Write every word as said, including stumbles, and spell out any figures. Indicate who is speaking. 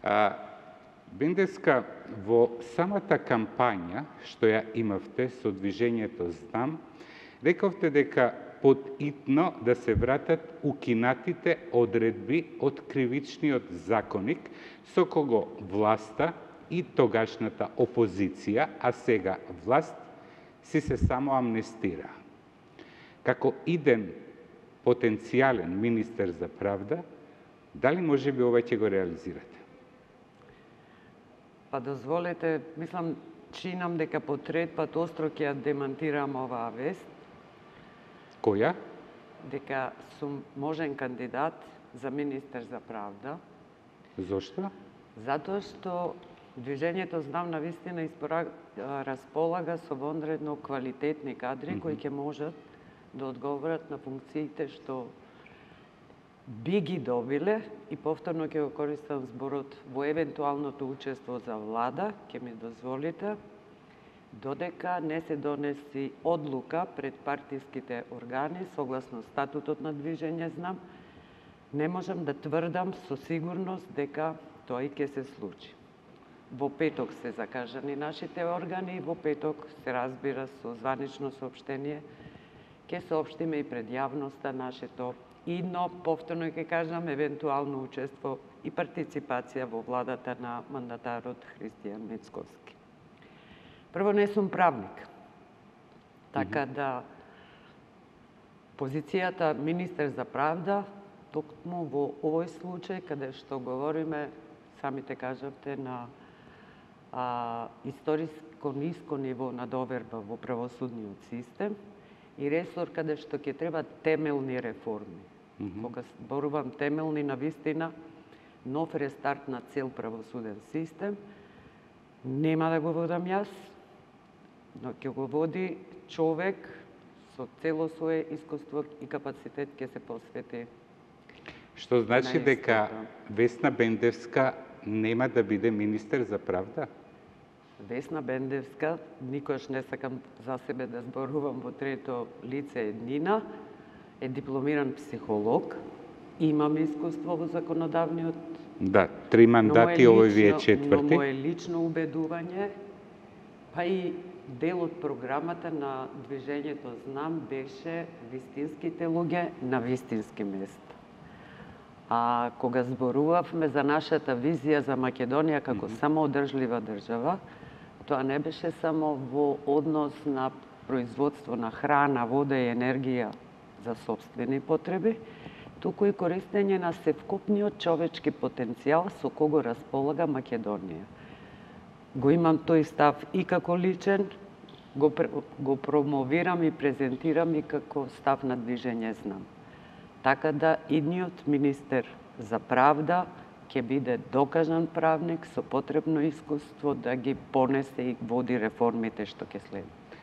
Speaker 1: А, Бендевска, во самата кампања што ја имавте со движењето Знам, рековте дека потитно да се вратат укинатите одредби од кривичниот законник со кого власта и тогашната опозиција, а сега власт, си се само амнестира. Како иден потенцијален министер за правда, дали може би ова ќе го реализирате?
Speaker 2: Па дозволете, мислам, чинам дека по трет пат остро ќе ја демантирам оваа вест.
Speaker 1: Која?
Speaker 2: Дека сум можен кандидат за министер за правда.
Speaker 1: Зошто?
Speaker 2: Затоа што движењето Знам на вистина располага со вонредно квалитетни кадри mm-hmm. кои ќе можат да одговорат на функциите што би ги добиле, и повторно ќе го користам зборот, во евентуалното учество за влада, ќе ми дозволите, додека не се донеси одлука пред партиските органи согласно статутот на движење Знам, не можам да тврдам со сигурност дека тоа и ќе се случи. Во петок се закажани нашите органи и во петок се разбира со званично соопштение ќе соопштиме и пред јавноста нашето идно, повторно ќе кажам, евентуално учество и партиципација во владата на мандатарот Христијан Мицковски. Прво, не сум правник, така да позицијата министер за правда, токму во овој случај, каде што говориме, самите кажавте, на а, историско ниско ниво на доверба во правосудниот систем и ресор каде што ќе треба темелни реформи. Mm-hmm. Кога зборувам темелни, на вистина, нов рестарт на цел правосуден систем, нема да го водам јас, но ќе го води човек со цело свое искуство и капацитет ќе се посвети.
Speaker 1: Што значи дека Весна Бендевска нема да биде министер за правда?
Speaker 2: Весна Бендевска, никош не сакам за себе да зборувам во трето лице еднина, е дипломиран психолог, имам искуство во законодавниот.
Speaker 1: Да, три мандати, овој ви е четврти.
Speaker 2: Но моje лично убедување, па и дел од програмата на движењето Знам беше вистинските луѓе на вистински места. А кога зборувавме за нашата визија за Македонија како mm-hmm. самоодржлива држава, тоа не беше само во однос на производство на храна, вода и енергија за собствени потреби, туку и користење на севкупниот човечки потенцијал со кого располага Македонија. Го имам тој став и како личен, го, го промовирам и презентирам и како став на движење Знам. Така да идниот министер за правда ќе биде докажан правник со потребно искуство да ги понесе и води реформите што ќе следат.